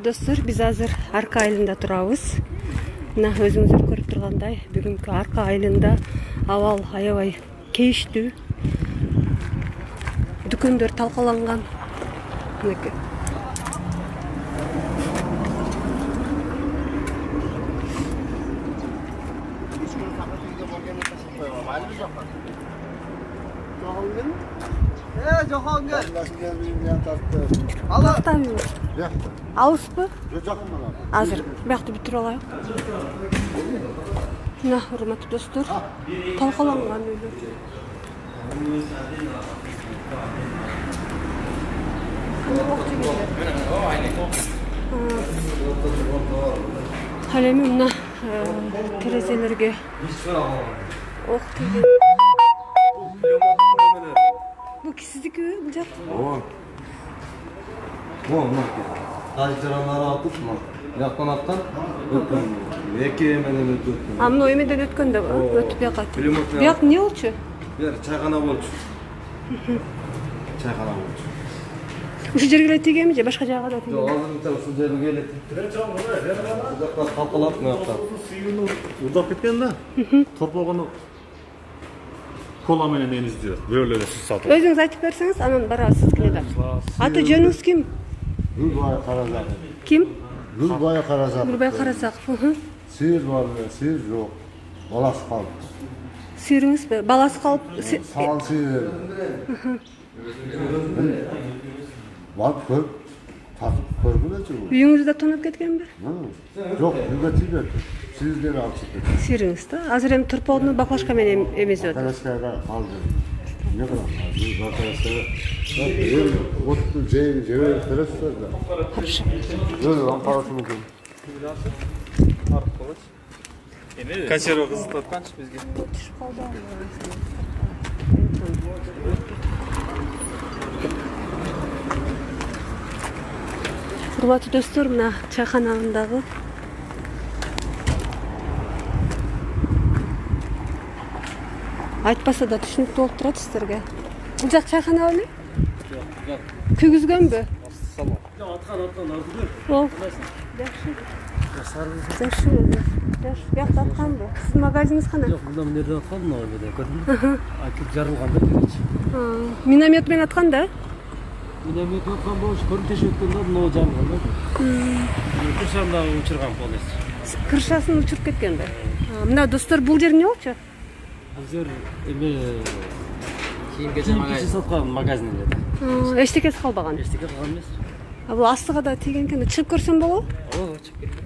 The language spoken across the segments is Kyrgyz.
достор, биз азыр Арка айылында турабыз. Мына өзүңүздөр көрүп тургандай, бүгүнкү Арка айылында абал аябай кейиштүү. Дүкөндөр талкаланган. Мынакей. Жохонгер. Алыспы? Азыр биякты бүтүрүп алайык. Мына, урматтуу достор, талкаланган үйлөр. Ал эми мына терезелерге ок тийген. Бул сиздикиби, бул жак? Кайчаранары атып, жактан аткан, эки менен өтүп. Мына эмеден өткөндө өтүп бияка. Бияк эмне болчу? Бер чайкана болчу. Чайкана болчу. Ушул жерге эле тийгенби же башка жакка да тийген? Жок, азыр ушул жерге эле тийди. Жакта калкалап мыякта. Урдап кеткен да. Торпогону кола менен эниздирет. Бөлө эле сиз сатып. Өзүңүз айтып берсеңиз, анан барабыз сиздикине да. Аты жөнүңүз ким? Гүлбай Каразаков. Ким? Гүлбай Каразаков. Гүлбай Каразаков. Сыйыр бар, сыйыр жок. Баласы калып. Сыйырыңызбы? Баласы калып, Саал сыйыр. Барып көрүп, тартып көргүлөчү бул. үйүңүздө тонуп кеткенби? Жок, үйгө тийбеди. Сыйырден алып чыкты. Сыйырыңыз да? Азыр эми торпогону баклашка менен эмесип атат. Баклашкага калды. Не кылам? Баклашкага. Отту жейин жебей бересиздер да. Хорошо. Ам карашы мүмкүн. Консерва кызытып атканчы бизге. Урматтуу достор, мына чайканагындагы айтпаса да түшүнүктүү болуп турат сиздерге. Бул жак чайкана беле? Жок. Күйгүзгөнбү? Салам. Аткан азыр. Жакшы. Жакшы. Биякта атканбы? Сиздин магазиниңиз кана? Жок, мына жерде аткан, мына жерде көрдүңбү? Айтып жарылган да киречи. Миномет менен аткан да? Миномет аткан болуш, көрүнтөшүп өткөн да, мына жарылган да. Кыршаны да учурган полностью. Кыршасын учуруп кеткен да. Мына достор, бул жер эмне болчу? Бул жер эме кийим-кечек саткан магазин эле да. Эчтекеси калбаган. Эчтеке калган эмес. Бул астыга да тийген экен. Чыгып көрсөм болобу? Ооба, чыгып кеткен.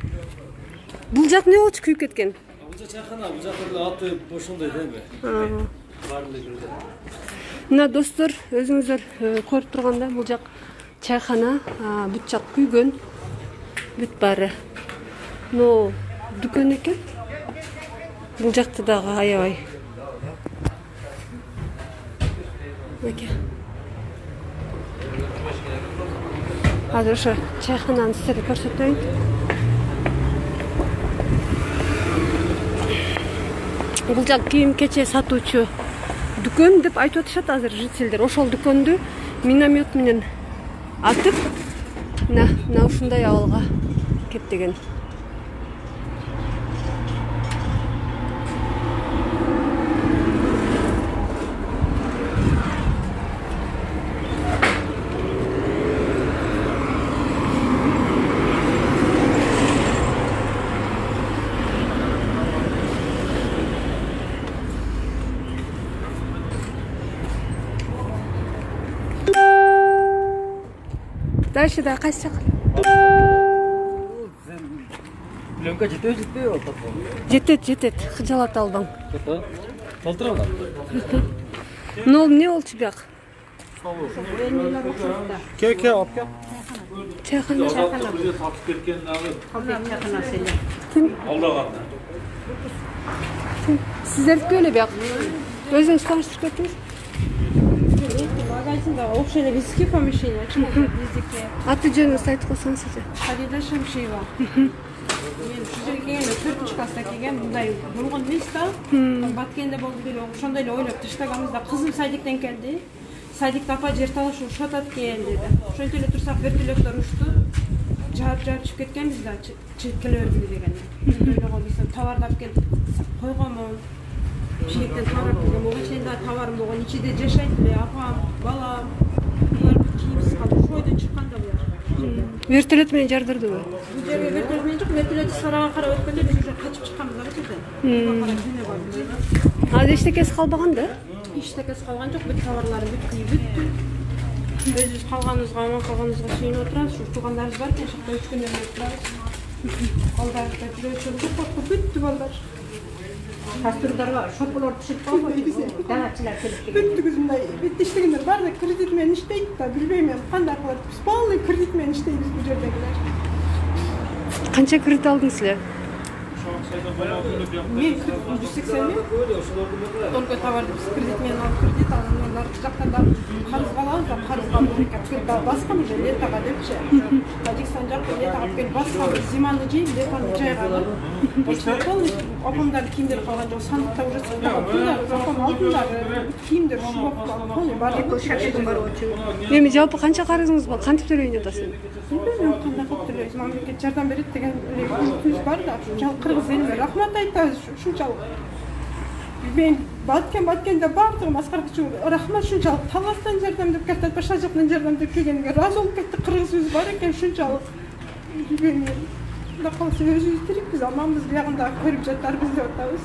Бул жак эмне болчу, күйүп кеткен? Бул жак чайкана, бул жакта эле аты ошондой да эме. Баардыгы жүрдү. Мына достор, өзүңүздөр көрүп тургандай, бул жак чайкана, бүт жак күйгөн. Бүт баары. Но дүкөн экен. Бул жакта дагы аябай. Мынакей. Азыр ошо чайкананы сиздерге көрсөтөйүн. Бул жак кийим-кечек сатуучу дүкөн деп айтып атышат азыр жителдер. Ошол дүкөндү миномет менен атып, мына ушундай абалга кептеген. Дальше да кайсы жак? Пленка жетпей атат. Жетет. Кыжалат албаң. Толтура. Но эмне болчу бияк? Ке, алып кел. Чайкана. Сатып кеткен дагы. Чайканасы эле. Ким? Алдаганда. Сиздердики эле бияк. Өзүңүз тааныштырып кетиңиз. Магазинда общее эле биздики помещение, биздики. Аты жөнүңүздү айтып койсоңуз эже. Фарида Шамшиева. Мен ушул жерге келгенде 4-ч класста келгем, мындай болгон эмес да. Баткенде болду деле, ошондой эле ойлоп таштаганбыз да. Кызым садиктен келди. Садикте апа жер талашып ушатат экен деди. Ошентип эле турсак вертолеттор учту. жарып кеткенбиз да чыгып келе бердик деген. Ойлогон биз товарды алып келип койгонмун. Шектен товар алып келген, могу чейин да товарым болгон, ичиде жашайт эле апам, балам. Булар кийимсиз калды. Шойдон чыкканда булар. Вертолет менен жардырдыбы? Бул жерге вертолет менен жок, вертолет сарага карап өткөндө биз уже качып чыкканбыз да жерден. Азыр эчтекеси калбаган да? Эчтекеси калган жок, бүт товарларым бүттү. Өзүбүз калганыбызга, аман калганыбызга сүйүнүп отурабыз. Ушу туугандарыбыз бар экен, шакта 3 күндөр отурабыз. Балдарда жүрөчүлүк коркуп бүттү балдар. Кастрюльдарга шопкалар түшүп калбайбы? Даңачылар келип келген. Бүттүгүз мындай бүт иштегендер бар да кредит менен иштейт да, билбейм эми кандай кылат. Биз полный кредит менен иштейбиз бул жердегилер. Канча кредит алдыңыз эле? Мен 180 миң. Только товарды биз кредит менен алып кредит алгандар наркы жактан да карызга алабыз да карызга да баскан уже летага депчи. Таджикстан жакта летага алып келип баскан, зиманы жейм, летаны жайган. Полный апамдар кийимдер калган жок, сандыкта уже сактаган. Апам алтындар, кийимдер шубак полный бар. Шашыдын бар очу. Эми жалпы канча карызыңыз бар? Кантип төлөйүн атасың? Билбейм кандай кылып төлөйбүз. Мамлекет жардам берет деген үмүтүбүз бар да. Ушунчалык кыргыз элине рахмат айтабыз ушунчалык. Билбейм, баткенде бардыгы маскарка үчүн рахмат ушунчалык. Таластан жардам деп кетет, башка жактан жардам деп келгенге ыраазы болуп кеттик. Кыргызыбыз бар экен ушунчалык. Билбейм. Мында калса өзүбүз тирикпиз, аманбыз, биягында көрүп жатарбыз деп атабыз.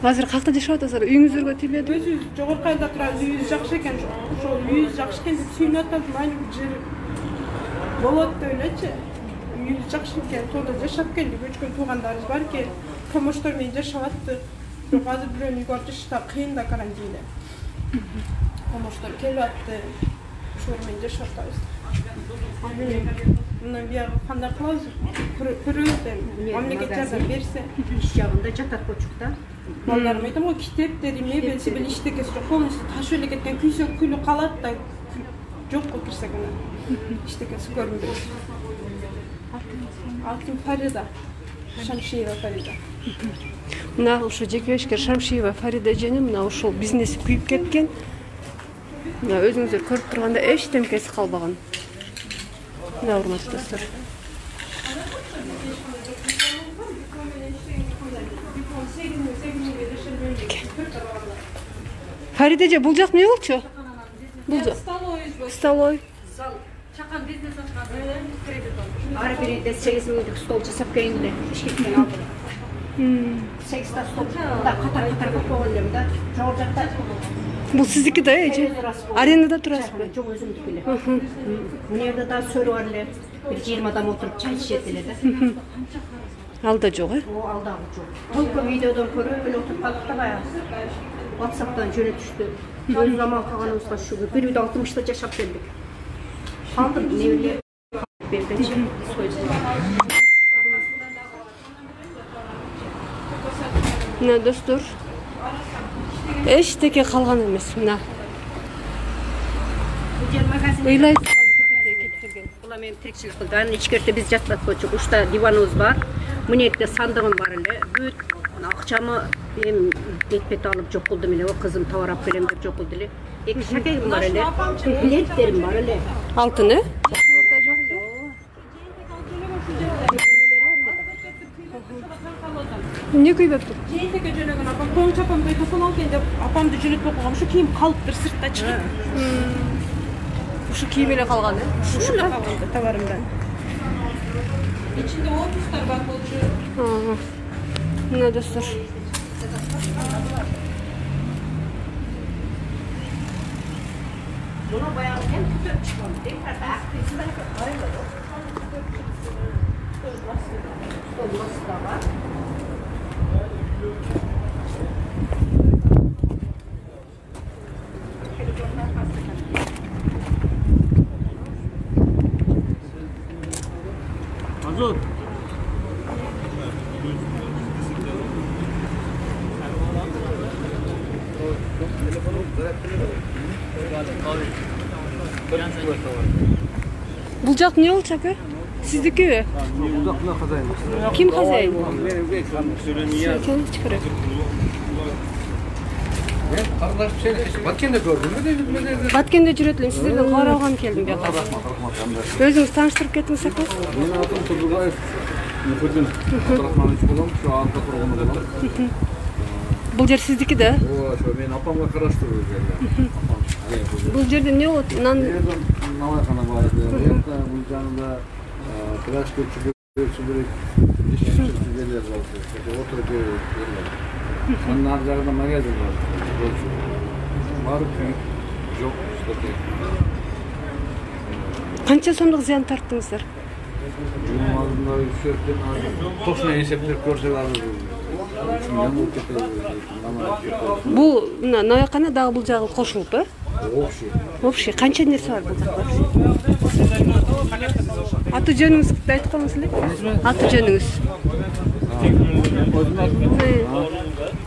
Азыр какта жашап атасыздар? Үйүңүздөргө тийбедиби? Өзүбүз жогорку айылда турабыз, үйүбүз жакшы экен. Ошол үйүбүз жакшы экен деп сүйүнүп атабыз. Майны жер болот деп элечи. Үйүбүз жакшы экен, сонда жашап келдик. Өчкөн туугандарыбыз бар экен. Помоштор менен жашап аттык. Бирок азыр бирөөнүн үйгө барып жашашта кыйын да карантинде. Помоштор келип атты. Ошолор менен жашап атабыз. Мындан бияр кандай кылабыз? Көрөбүз эми. Мамлекет жардам берсе. Иш жагында жатат почукта. Балдарым айтам го, китептери, мебелси бил иштекеси жок. Полностью ташып эле кеткен, күйсө күлү калат да жокко кирсек мына. Иштекеси көрүнбөйт. Алтын Фарида. Шамшиева Фарида. Мына ошо жекебешкер Шамшиева Фарида эжени мына ушул бизнеси күйүп кеткен. Мына өзүңүздөр көрүп тургандай эчтемкеси калбаган. Мына урматтуу достор. Фарида эже, бул жак эмне болчу? Бул жак столой. Чакан бизнес ачкан кредит алып. Ары биринде 8 миңдик стол жасап келгенде Бишкектен алдым. 8 та стол да катар койгон элем да. Жогору жакта. Бул сиздики да эже? Арендада турасызбы? Жок, өзүмдүкү эле. Мына жерде да сөрү бар эле. Бир 20 адам отуруп чай ичет эле да. Алда жок, э? О, алдагы жок. Только видеодон көрүп эле отуруп калдык да баягы. WhatsApp'tan жөнөтүштү. Өз заман калганыбызга шүгүр. Бир үйдө 60-та жашап келдик. Калдым, небелер бердичи. Мына достор, эчтеке калган эмес. Мына Бул жер магазин. ыйлай турган кептелген. Була мен тирикчилик кылды. Анын ичкерте биз жатат болчук. Ушта диваныбыз бар. Мына жерде сандыгым бар эле. Бүт акчамы эми бет алып жок кылдым эле. Кызым товар алып келем деп жок кылды эле. Эки шакегим бар эле. Билеттерим бар эле. Алтын, э? Эмне күйбөптүр? Жээнтекке жөнөгөн апам, коңчу апамды телефон алган деп апамды жөнөтпөй койгом. Ушу кийим калыптыр сыртта чыгып. Ушу кийим эле калган, э? Ушу эле калган товарымдан. Ичинде отпустар бар болчу. Мына достор. Буну баягы мен күтүп чыккан. Декарда актриса бар. Азот. Бул жак эмне болчу ака? Сиздикиби? Ким хозяин? Карындашып сейлешип Баткенде көрдүмбү дейм. Баткенде жүрөт элем. Сиздерден кабар алган келдим бияка. Өзүңүз тааныштырып кетиңиз ака. Менин атым Турдубаев. Мухиддин Абдрахманович болом. Şu анда тургуну болом. Бул жер сиздики да? Ооба, ошо менин апамга караштуу жер. Бул жерде эмне болот? Навайкана бар эди. Бул жанында пляж көчүлүк, ишчилер бар. Отуруп жерлер. Анын ар жагында магазин бар. Барып жок, что-то. Канча сомдук зыян тарттыңыздар? Bunun aldığında üstlerden toşuna esepler görseler Бул навайкана дагы бул жагы кошулуп, э? Общий. Канча нерсе бар бул жакта? Аты жөнүңүздү айтып коюңуз эле. Аты жөнүңүз.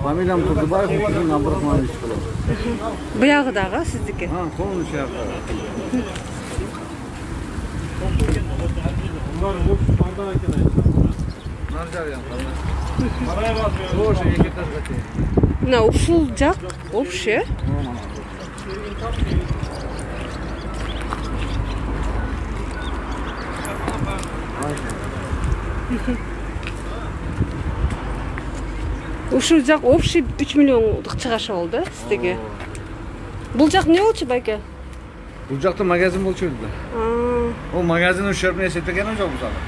Фамилиям Турдубаев, Мухиддин Абдрахманович болот. Буягы дагы сиздики? Колун иши. Мына ушул жак общий. Ушул жак общий 3 миллиондук чыгаша болду, сиздеги. Бул жак эмне болчу байке? Бул жакта магазин болчу да. Ол магазин ушербин эсептеген жок бул жакта.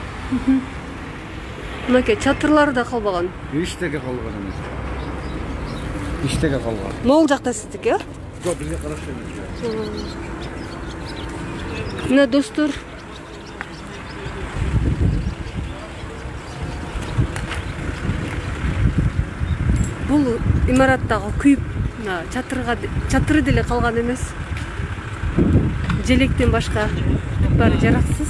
Мынакей чатырлары да калбаган. Иштеге калган эмес. Иштеге калган. Могул жакта сиздики, э? Жок, бизге караштуу эмес. Мына достор. Бул имараттагы күйүп, чатыры деле калган эмес. Желектен башка баары жараксыз.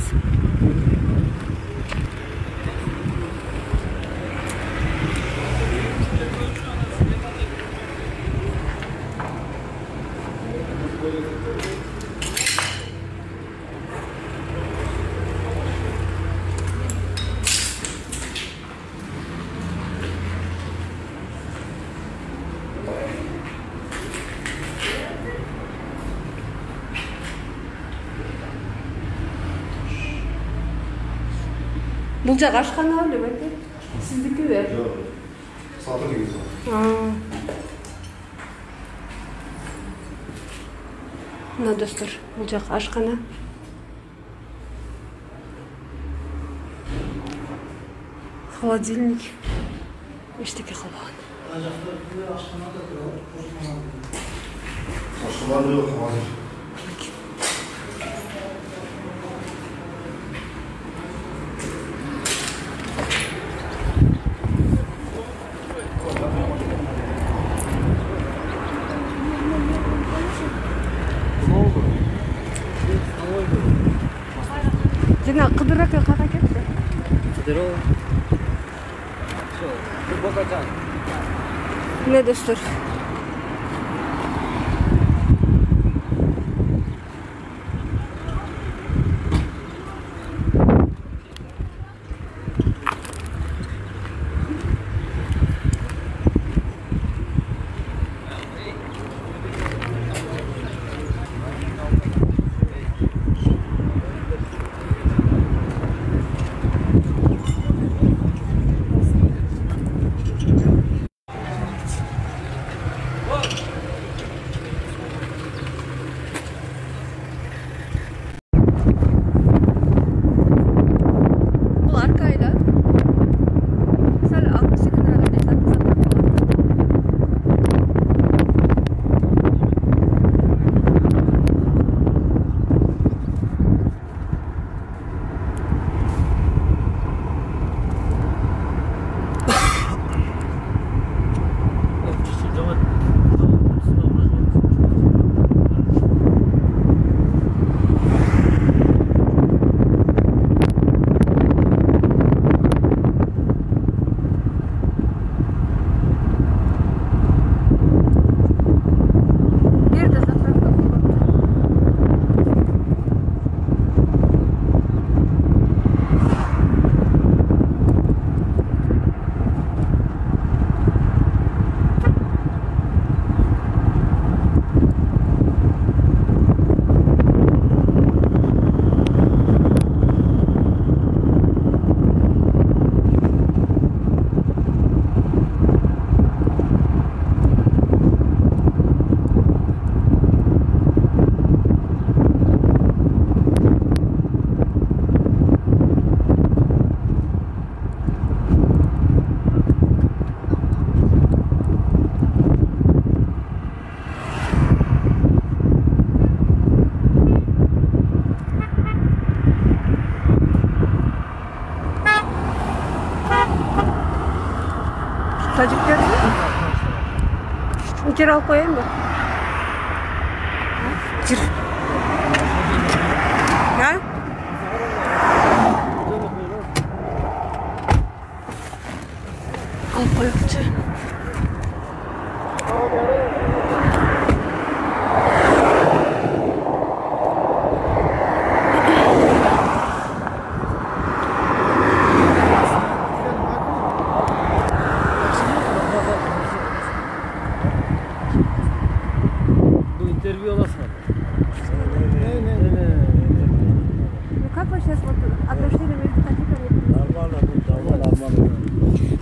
Бул жак ашкана беле байке? Сиздикиби? Жок. Сатыр деген. Мына достор, бул жак ашкана. Холодильник. Эчтеке калбаган. Ашкана жок, азыр. Жана Кыдыр ака кайда кетти? Здорово. Всё, бокачан. Мына достор. Жер алып коеюнбу? Жер. Ha? Алып коелучу. Интервью аласың. Как вы сейчас вот отношения между таджиками? Нормально.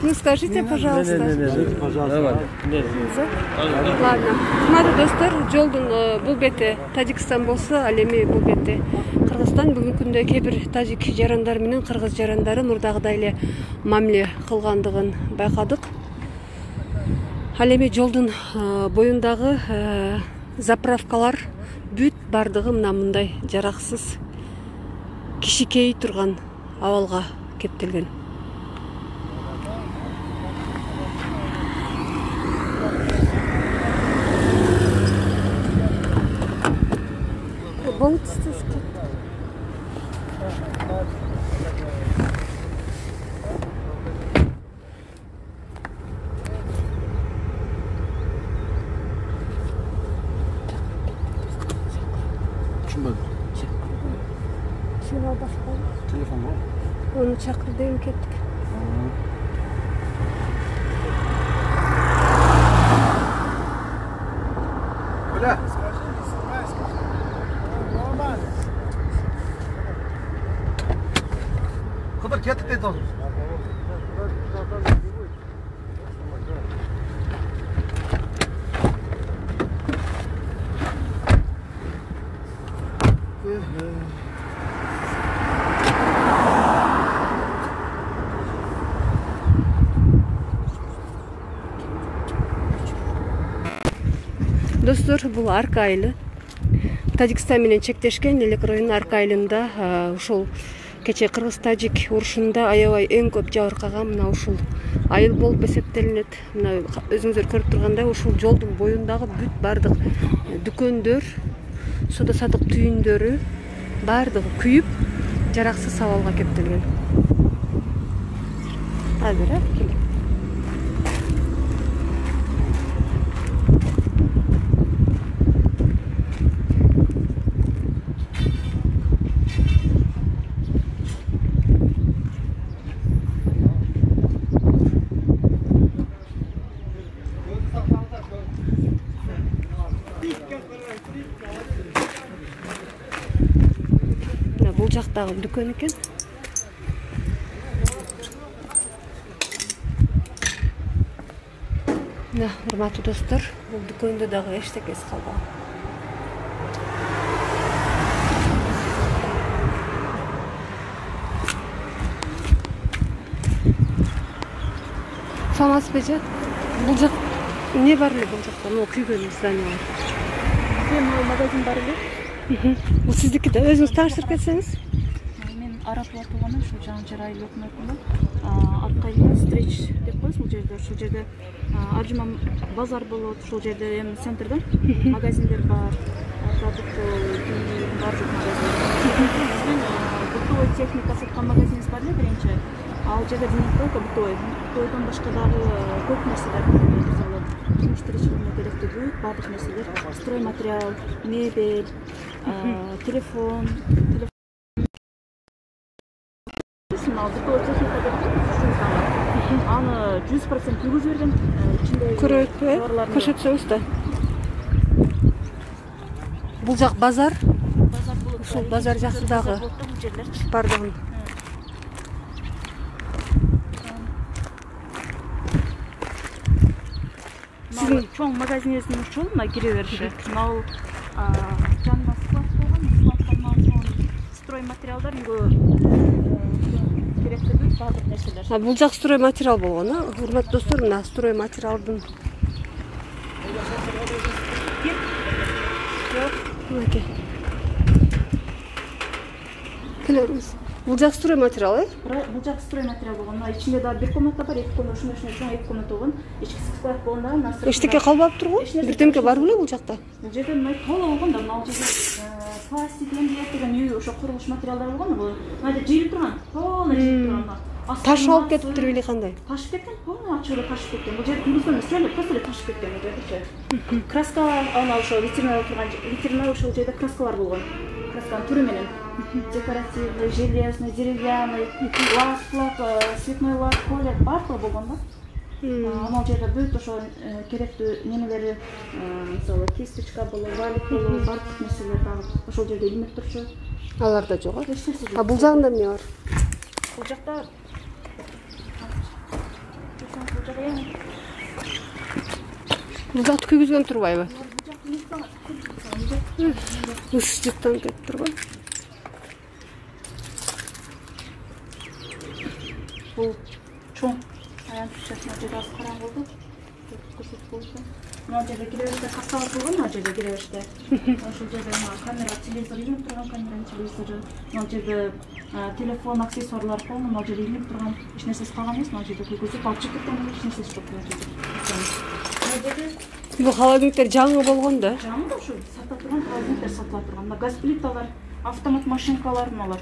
Ну скажите, пожалуйста. Пожалуйста. Ладно. Кымбаттуу достор, жолдун бул бети Тажикстан болсо, ал эми бул бети Кыргызстан. Бүгүнкү күндө кээ бир тажик жарандар менен кыргыз жарандары мурдагыдай эле мамиле кылгандыгын байкадык. Ал эми жолдун боюндагы заправкалар бүт бардыгы мындай жараксыз, кичикей турган абалга кептелген. Телефон бар. Onu çakır deyim kettik. Бля. Кыдыр кетtik дейт озун. Достор, бул Арка айылы. Тажикстан менен чектешкен Элек районунун Арка айылында ушул кече кыргыз-тажик урушунда аябай эң көп жабыркаган мына ушул айыл болуп эсептелинет. Мына өзүңүздөр көрүп тургандай ушул жолдун боюндагы бүт бардык дүкөндөр, соода саттык түйүндөрү бардыгы күйүп, жараксыз абалга кептелген. Азыр бул жактагы дүкөн экен. Мына, урматтуу достор, бул дүкөндө дагы эчтекеси калбаган. Саламатсызбы? Бул жак не бар эле бул жакта? Могу күйгөн здание бар. Магазин бар эле. Бул сиздики да, өзүңүз тааныштырып кетсеңиз. Мен араплап турганмын, ушу жаңы жер айыл өкмөтүндө. Аркайла встреч деп коебуз бул жерде. Ушул жерде Аржыман базар болот, ушул жерде эми центрда магазиндер бар. Продуктовый бардык магазин. Бытовой техника саткан магазинибиз бар эле биринчи. Ал жерде винтовка бытовойдон башка дагы көп нерселер бар. Мисалы, жумуш тиричилигине керектүү бүт бардык нерселер, строй материал, мебель, телефон. Бытовой техника деп аны 100% жүргүзүп берген. Көрөтпү? Көрсөтсөңүз да. Бул жак базар. Ушул базар жакындагы бардыгын. Чоң магазинибиздин ушул мына кире бериши. Мына жанында склад болгон, строй материалдар үйгө керектүү бүт бардык нерселер. Бул жак строй материал болгон, урматтуу достор, мына строй материалдын. Мынакей. Келебиз. Бул жак строй материал, Бул жак строй материал болгон. Мына ичинде да бир комната бар, 2 комната, ушундай чоң 2 комната болгон. Ички склад болгон да. Эчтеке калбап турбу? Бирдемке бар беле бул жакта? Бул жерде мына толо болгон да, мына жерде пластик деген үй ошо курулуш материалдары болгон. Мына жерде жыйылып турган, полный жыйылып турган. Таш алып кетиптир беле кандай? Ташып кеткен, полный ачык эле ташып кеткен. Бул жерде күндүзгөн эле просто эле ташып кеткен бул жерде. Краска ана ошо ветеринар турган, ветеринар ошол жерде краскалар болгон. Красканын түрү менен декоративный, железный, деревянный, лак, цветной лак, колер баардыгы болгон да. Анал жерде бүт ошо керектүү немелери, мисалы кисточка болобу, валик болобу, баардык нерселер дагы ошол жерде илинип турчу. Аларда жок. А бул жагында эмне бар? Бул жакта Бул жакты күйгүзгөн турбайбы? Ыс жыттан кетип турбайбы? Бул чоң аянт чатына жерде аз караңгы болду. Көрсөтүп болду. Мына жерде киребеште каскалар болгон, мына жерде киребеште. Ошол жерде камера, телевизор илинип турган, камера, телевизор. Мына жерде телефон, аксессуарлар болгон, мына жерде илинип турган. Эч нерсеси калган эмес, мына жерде күйгүзүп алып чыгып кеткен, эч нерсеси жок мына жерде. Мына жерде Бул холодильниктер жаңы болгон да. жаңы да ушу сатылып турган холодильниктер сатылып турган. Мына газ плиталар, автомат машинкалар мыналар.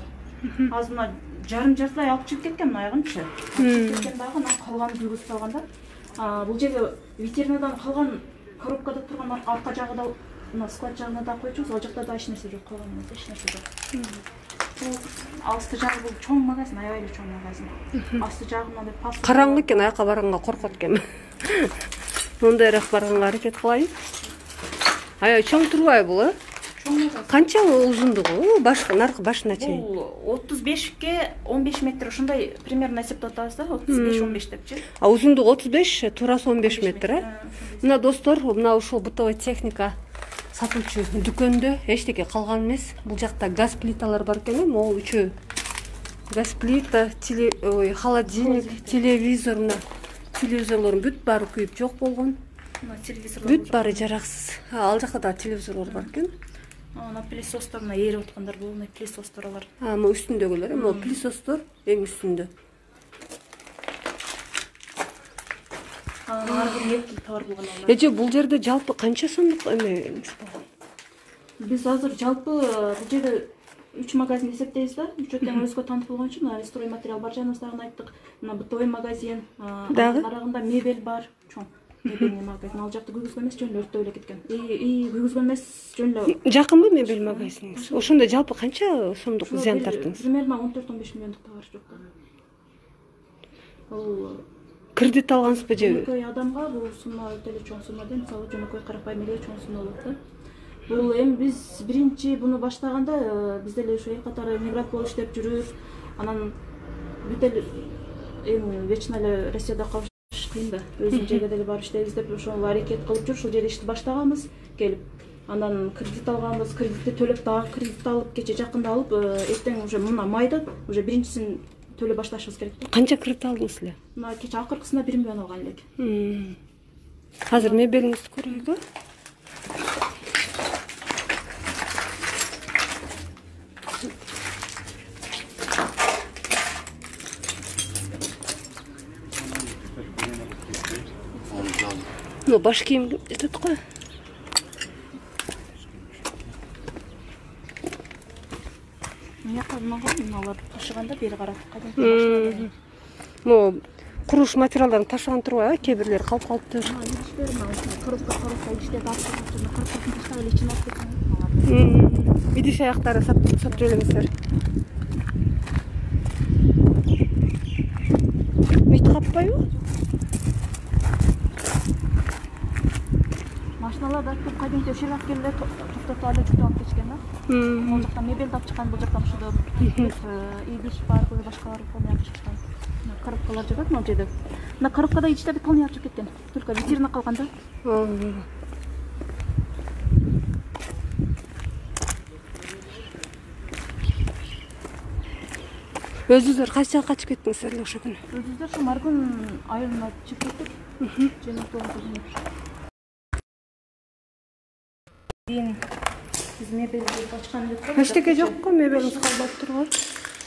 Азыр мына жартылай алып чыгып кеткен мына аягынчы. Алып кеткен дагы мына калганын күйгүзүп алган да. Бул жерде ветеринадан калган коробкада турган арка жагы да мына склад жагына да койчубуз. Ал жакта да эч нерсе жок, калган эмес, эч нерсе жок. Бул алысты жагы бул чоң магазин, аябай эле чоң магазин. Асты жагы мындай паст. Караңгы экен, аяка барганга коркот экен. Мондайраак барганга аракет кылайын. Аябай чоң турбайбы бул, Чоң магазин. Канча узундугу? Наркы башына чейин. Бул 35ке 15 метр ушундай примерно эсептеп атабыз да, 35-15 депчи. А узундугу 35, турасы 15 метр, Мына достор, мына ушул бытовой техника сатылчу дүкөндө эчтеке калган эмес. Бул жакта газ плиталар бар экен, могу үчөө. Газ плита, холодильник, телевизор, мына телевизорлордун бүт баары күйүп жок болгон. Мына телевизорлор. Бүт баары жараксыз. Ал жакта да телевизорлор бар экен. Ана пылесостор мына ээрип аткандар бул, мына пылесостор алар. Могу үстүндөгүлөр, могу пылесостор эң үстүндө. Ар бир эки товар болгон алар. Эже бул жерде жалпы канча сомдук эмеңиз болгон? Биз азыр жалпы бул жерде 3 магазин эсептейбиз да. Үчөөтөн өзгө таанып болгон үчүн мына строй материал бар жаныбыздагы айттык. Мына бытовой магазин, арагында мебель бар, чоң. Мебельный магазин. Ал жакты күйгүзгөн эмес, жөн эле өрттөп эле кеткен. Күйгүзгөн эмес, жөн эле. Жакынбы мебель магазиниңиз? Ошондо жалпы канча сомдук зыян тарттыңыз? Примерно 14-15 миллиондук товар жок. Ал Кредит алгансызбы же? жөнөкөй адамга бул сумма өтө эле чоң сумма да, мисалы жөнөкөй карапайым эле чоң сумма болот да. Бул эми биз биринчи буну баштаганда биз деле ушу эл катары мигрант болуп иштеп жүрүп, анан бүт эле эми вечно эле Россияда калыш кыйын да. Өзүбүз жерге деле барып иштейбиз деп ошол аракет кылып жүрүп ушул жерде ишти баштаганбыз, келип. Анан кредит алганбыз, кредитти төлөп дагы кредит алып, кече жакында алып, эртең уже мына майда уже биринчисин төлөп башташыбыз керек да. Канча кредит алдыңыз эле? Мына кече акыркысына 1 миллион алган элек. Азыр мебелиңизди көрөйүкпү? Ну, баш кийим жетет го. Мыяка мыналар ташыганда бери карап кайдан. Могу курулуш материалдарын ташыган турбайбы? Кээ бирлери калып калыптыр. Коробка иштеп таштап эле ичине алып кеткен. Идиш аяктары сатып элемесиздер. Мит каппайбы? Машиналар да көп кайдинки ошол жак келе токтотуп алып жүктөп алып кетишкен да. Могу жакта мебель тап чыккан, бул жактан ушуда идиш бар, башкалар полный чыккан. Коробкалар жатат могу жерде. Мына коробкада ичте полный алып чыгып кеткен. Только витрина калган да. Өзүңүздөр кайсы жака качып кеттиңиздер эле ошол күнү? Өзүбүздөр ушу Маргүн айылына чыгып кеттик. Кийин биз мебелди ачкан элек. Эчтеке жокко, мебелиңиз калбап турган.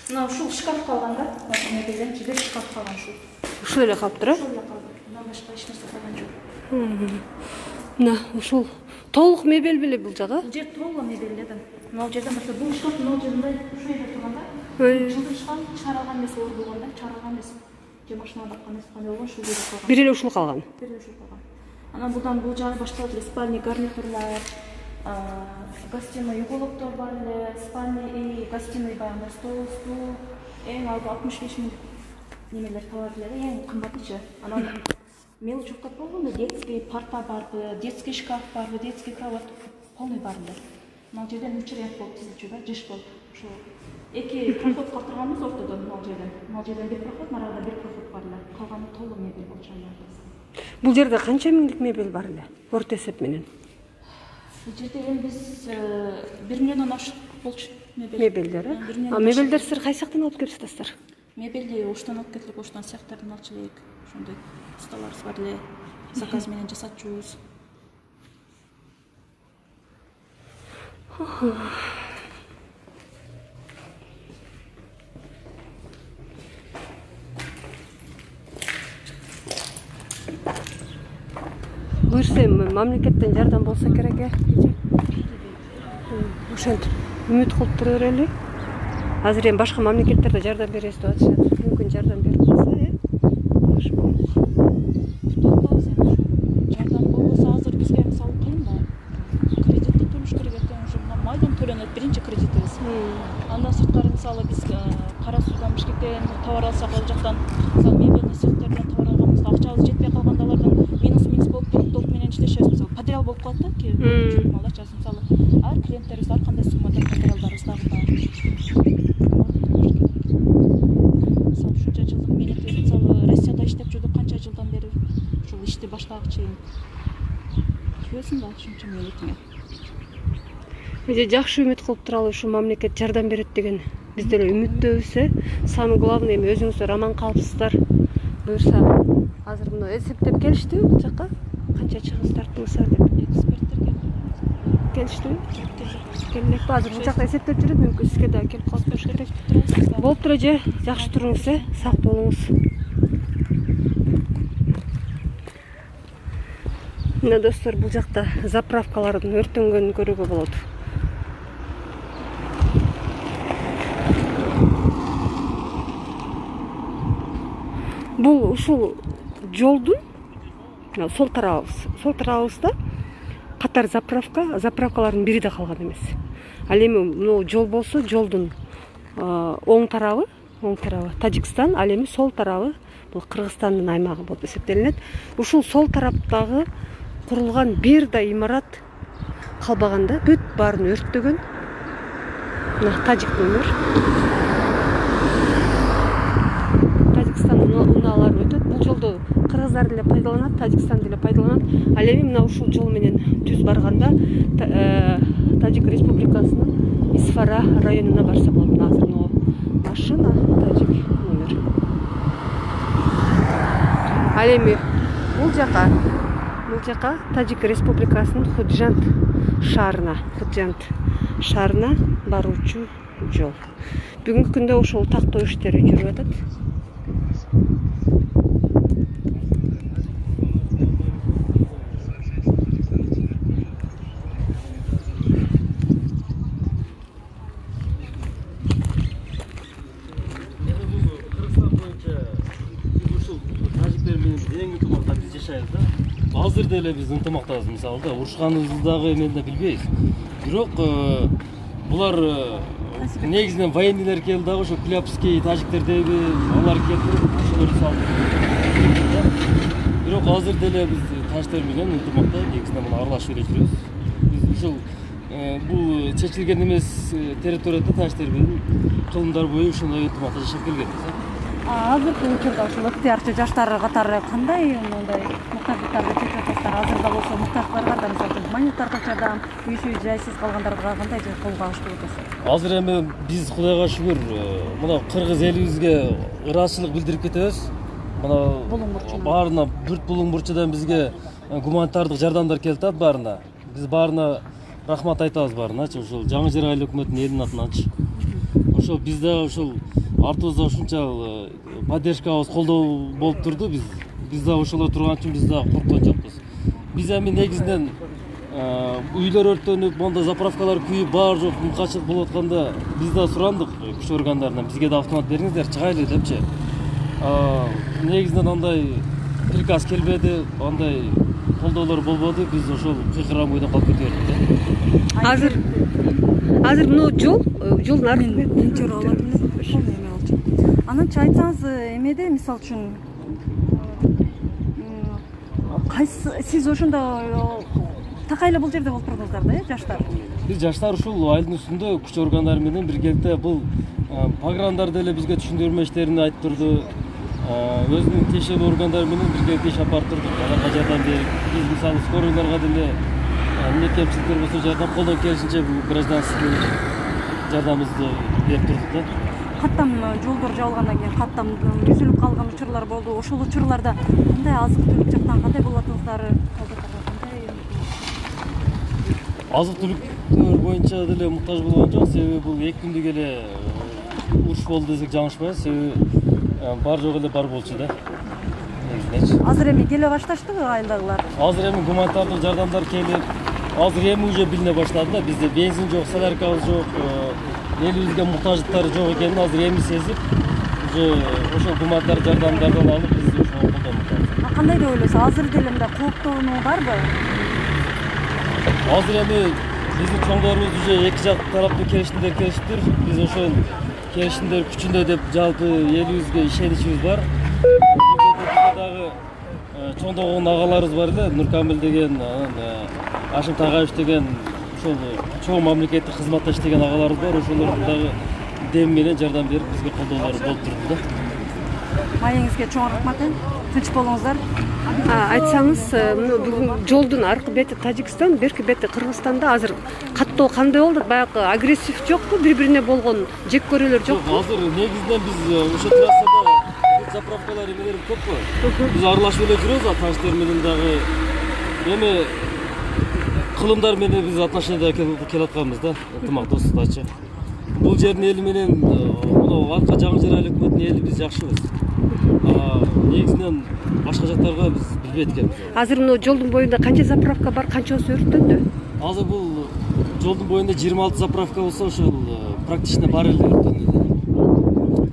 Мына ушул шкаф калган да. Мебелден жибер шкаф калган ушул. Ушул эле калыптыр, Ушул эле калды. Мындан башка эч нерсе калган жок. Мына ушул толук мебель беле бул жагы? Бул жер толук мебель да. Мына жерде mesela бул шкаф мына жеринде ушул жерде турган да. Жылдышкан чаралган эмес болгон да, чаралган эмес. Же машинада баккан эмес, кандай болгон ушул жерде калган. Бир эле ушул калган. Бир эле ушул калган. Анан бурдан бул жагы башталып эле спальня гарнитурлар, гостиный уголоктор бар эле, спальня и гостиный баягы стол, эң алгы 65 миң немелер табат эле, эң кымбатычы. Анан мелочевка болгондо детский парта барбы, детский шкаф барбы, детский кровать полный бар эле. Мына жерден 3 ряд болуп тизилчү да, жыш болуп. Ошо эки проход калып турганбыз ортодон мына жерден. Мына жерден бир проход, нарада бир проход бар эле. Калганы толук мебель болчу. Бул жерде канча миңдик мебель бар эле? Орто эсеп менен. Бул жерде эми биз 1 миллиондон ашык болчу мебель. Мебелдер, мебелдер сиздер кайсы жактан алып келип жатасыздар? Мебелди оштон алып келип, оштон цехтерден алчу элек. Ошондой столарыбыз бар эле. Заказ менен жасатчубуз. Буюрса мамлекеттен жардам болсо керек э. Ошентип үмүт кылып тура берели. Азыр эми башка мамлекеттерде жардам беребиз деп атышат. Мүмкүн жардам берип калса, жакшы болот. Жардам болбосо азыр бизге мисалы кыйын да. Кредитти төлөш керек экен, уже мына майдан төлөнөт биринчи кредитибиз. Андан сырткары мисалы биз Кара Суудан Бишкектен товар алсак, ал жактан мисалы мебельный цехтерден товар алганбызда акчабыз жетпей калганда алардан минус болуп туруп толук менен иштешебиз. Мисалы подряд болуп калат да, ки малача мисалы ар клиенттерибиз ар кандай суммада материалдарыбызды бар. Мисалы ушунча жылдык менети мисалы Россияда иштеп жүрдүк канча жылдан бери ушул ишти баштагычы. Түбөсүн да ушунча менетиңе. Жакшы үмүт кылып туралы ушу мамлекет жардам берет деген биз деле үмүттөбүз. Самый главный эми өзүңүздөр аман калыпсыздар. Буюрса азыр мына эсептеп келиштиби бул жакка? Канча чыгыс тартыңыздар деп? Эксперттер келиштиби? Келмек азыр бул жакта эсептеп жүрөт, мүмкүн сизге да келип калып туруш керек. Болуп тура же, жакшы туруңуз, сак болуңуз. Мына достор, бул жакта заправкалардын өртөнгөнүн көрүүгө болот. Бул ушул жолдун сол тарабыбызда катар заправкалардын бири да калган эмес. Ал эми мына жол болсо, жолдун оң тарабы Тажикстан, ал эми сол тарабы бул Кыргызстандын аймагы болуп эсептелинет. Ушул сол тараптагы курулган бир да имарат калбаганда бүт баарын өрттөгөн. Мына тажик өмүр. Тажикстандын унаалары өтөт. Бул жолду кыргыздар деле пайдаланат, Тажикстан деле пайдаланат. Ал эми мына ушул жол менен түз барганда Тажик Республикасынын Исфара районуна барса болот. Азыр мына машина тажик өмүр. Ал эми бул жака Тажик Республикасынын Худжанд шаарына баруучу жол. Бүгүнкү күндө ошол тактоо иштери жүрүп атат. Азыр деле биз ынтымактабыз, мисалы да урушканыбызды дагы эми да билбейбиз. Бирок булар негизинен военныйлар келди дагы ошо Кулябский тажиктердеби, алар келип ошолорду салды. Бирок азыр деле биз таштар менен ынтымакта негизинен муну аралашып эле жүрөбүз. Биз ушул бул чечилген эмес территорияда таштар менен кылымдар бою ошондой ынтымакта жашап келгенбиз. Азыркы учурда ушул ыктыярчы жаштар катары кандай мындай муктаждыктарды чечип атасыздар? Азырда болсо муктаждыктарга, мисалы гуманитардык жардам, үйсү жайсыз калгандарга кандай кол багыштап атасыз? Азыр эми биз Кудайга шүгүр мына кыргыз элибизге ыраазычылык билдирип кетебиз. Мына баарына бүрт булуң бурчудан бизге гуманитардык жардамдар келип атат баарына. Биз баарына рахмат айтабыз баарына. Ушул Жаңы Жер айыл өкмөтүнүн элинин атынан. ошол биз дагы ошол артыбызда ушунча поддержкабыз колдоо болуп турду. Биз дагы ошолор турган үчүн биз дагы корккон жокпуз. Биз эми негизинен үйлөр өрттөнүп, монда заправкалар күйүп, баары жок качык болуп атканда биз да сурандык күч органдарынан бизге да автомат бериңиздер, чыгайлы депчи. Негизинен андай приказ келбеди, андай колдоолор болбоду. Биз ошол кыйкырган бойдон калып кете бердик. Азыр мына жолдун аркы тинчер алат эме болчу. Ананчы айтсаңыз эмеде мисалы үчүн кайсы сиз ошондо такайлы бул жерде болуп турдуңуздар да, жаштар? Биз жаштар ушул айылдын үстүндө күч органдары менен биргеликте бул пограндар деле бизге түшүндүрмө иштерин айтып турду. Өзүнүн тиешелүү органдары менен биргеликте иш алып барып турдук. Аларга жардам берип, биз мисалы скорыйларга деле эмне кемчиликтер болсо жардам колдон келишинче бул гражданский жардамыбызды берип турдук да. Каттам жолдор жабылгандан кийин каттам үзүлүп калган учурлар болду. Ошол учурларда кандай азык-түлүк жактан кандай болуп атыңыздар? Азык-түлүктөр боюнча деле муктаж болгон жок. Себеби бул 2 күндүк эле уруш болду десек жаңылышпайбыз. Себеби бар жок эле бар болчу да. Азыр эми келе башташтыбы айылдагылар? Азыр эми гуманитардык жардамдар келип, азыр эми уже билине баштады да. Бизде бензин жок, соляркабыз жок, элибизге муктаждыктар жок экенин азыр эми сезип, уже ошол гуманитардык жардамдардан алып биз ошого колдонуп атабыз. Кандай деп ойлойсуз? Азыр деле мындай кооптонуу барбы? Азыр эми биздин чоңдорубуз уже эки жак тараптуу келишимдер. Биз ошол келишимдер күчүндө деп жалпы элибизге ишеничибиз бар. Бизде дагы чоңдогон агаларыбыз бар эле, Нуркамил деген, Ашим Тагаев деген ошол чоң мамлекеттик кызматта иштеген агаларыбыз бар. Ошолор дагы дем менен жардам берип бизге колдоолору болуп турду да. Маегиңизге чоң рахмат. Тынч болуңуздар. Айтсаңыз, бүгүн жолдун аркы бети Тажикстан, берки бети Кыргызстанда азыр каттоо кандай болду? Баягы агрессив жокпу? Бири-бирине болгон жек көрүүлөр жокпу? Азыр негизинен биз ошо трассада заправкалар эмелер көппү. Биз аралашып эле жүрөбүз, таштар менен дагы эми кылымдар менен биз отношенияда келе атканбыз да, ынтымакташтыкчы. Бул жердин эли менен мына арка жаңы жер айыл өкмөтүнүн эли биз жакшыбыз. Негизинен башка жактарга биз билбейт экенбиз. Азыр мына жолдун боюнда канча заправка бар, канчасы өрттөндү? Азыр бул жолдун боюнда 26 заправка болсо, ошол практично баары эле өрттөнгөн.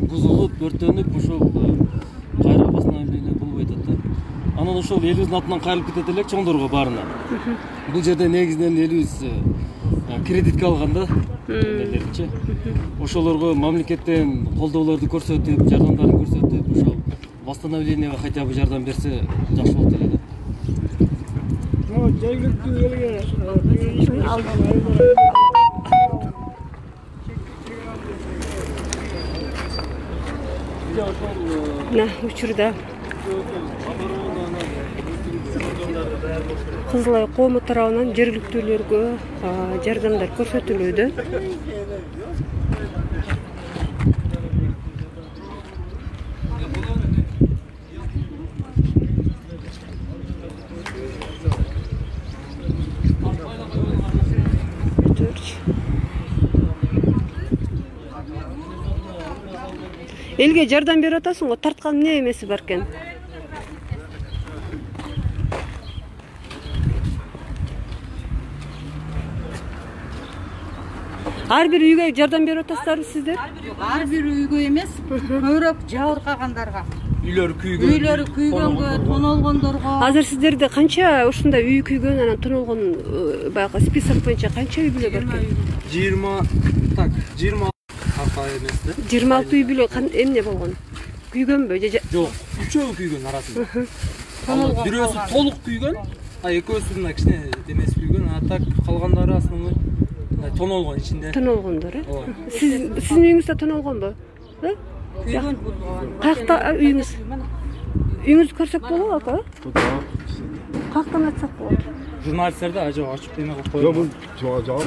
Бузулуп, өрттөнүп, ошол кайра восстановление болбой атат да. Анан ошол элибиздин атынан кайрылып кетет элек чоңдорго баарына. Бул жерде негизинен элибиз кредитке алган да, элерчи. Ошолорго мамлекеттен колдоолорду көрсөтүп, жардамдарын көрсөтүп, ошол восстановлениеге хотя бы жардам берсе жакшы болот эле да. Жергиликтүү элге учурда Кызыл Ай коому тарабынан жергиликтүүлөргө жардамдар көрсөтүлүүдө. Элге жардам берип атасың го, тарткан эмне эмеси бар экен? Ар бир үйгө жардам берип атасыздарбы сиздер? Ар бир үйгө эмес, көбүрөөк жабыркагандарга. Үйлөрү күйгөнгө, тонолгондорго. Азыр сиздерде канча ушундай үй күйгөн, анан тонолгон баягы список боюнча канча үй бүлө бар экен? 20 26 үй бүлө эмне болгон? Күйгөнбү? Жок, үчөө күйгөн арасында. Бирөөсү толук күйгөн, экөөсү мына кичине демес күйгөн, а так калгандары основной тонолгон ичинде. Тонолгондор, Сиздин үйүңүздө тонолгонбу? Күйгөн. Каякта үйүңүз? Үйүңүздү көрсөк болобу, ака? Каяктан айтсак болот? Журналисттерди ачып эме кылып Жок, коюп. бул жаап.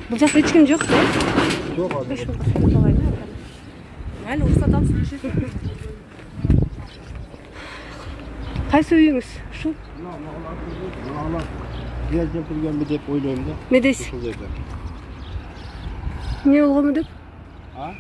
Бул жакта эч ким жок да? Жок, Mayli, ruxsat olib Кайсы үйүңүз? Ушул? Келип турганбы деп ойлойм да. Эмне дейсиз? Ушул жерде. Эмне болгонбу деп? А?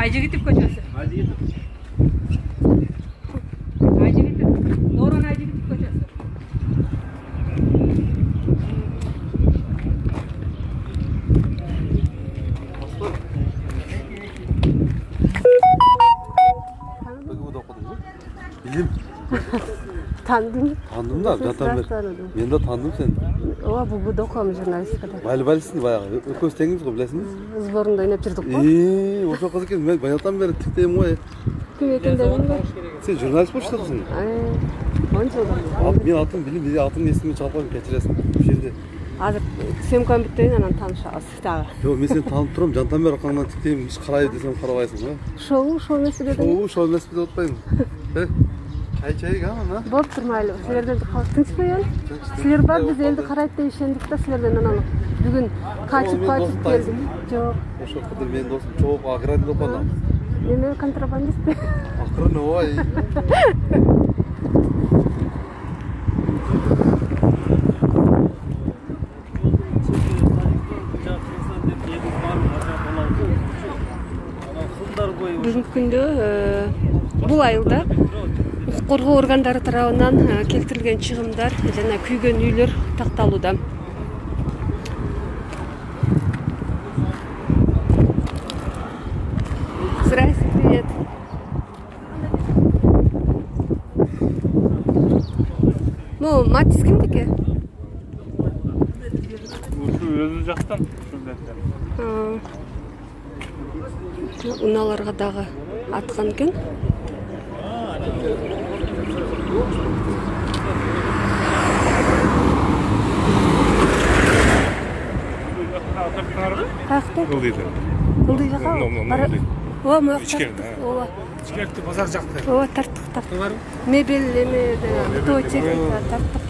Айжигитов көчөсү. Айжигитов. Дорон Айжигитов көчөсү. Билим. Таандым. Таандым да, жатам бер. Мен да таандым сени. Ооба, бул окуям журналистикада. Балисиң баягы. Экөөбүз теңбиз го, билесиңби? Сборунда ойноп жүрдүк го. Ошол кыз экен. Мен баягыдан бери тиктейм го. Ким экендигин? Сен журналист болчусуң. 10 жылдан. Мен атым билим, атың эсиме чалпам кечиресиң. Бу жерде. Азыр съемканы бүттөйүн, анан таанышабыз дагы. Жок, мен сени таанып турам. Жантан бери аркаңдан тиктейм, иш карайбы десем карабайсың го. Шоу эмес деп. Шоу эмес деп атпайм. Чай ана. Болуп турмайлы. Силерден тынчпайбы? Силер бар, биз элди карайт деп ишендик да, силерден анан бүгүн качып келдим. Жок. Ошол кыдыр менин досум чоок аграрий деп атам. Эме контрабандист. Акырын ой. Бүгүнкү күндө бул айылда укук коргоо органдары тарабынан келтирилген чыгымдар жана күйгөн үйлөр такталууда. Здравствуйте, привет. Ну, Матис кимдики? Ушу өзү жактан. Уналарга дагы аткан экен. Каякта? Кылдый жака. Ооба, могу жакта. Ооба. Ичкерти базар жакта. Ооба, тарттык. Мебель эме, бытовой техника тарттык.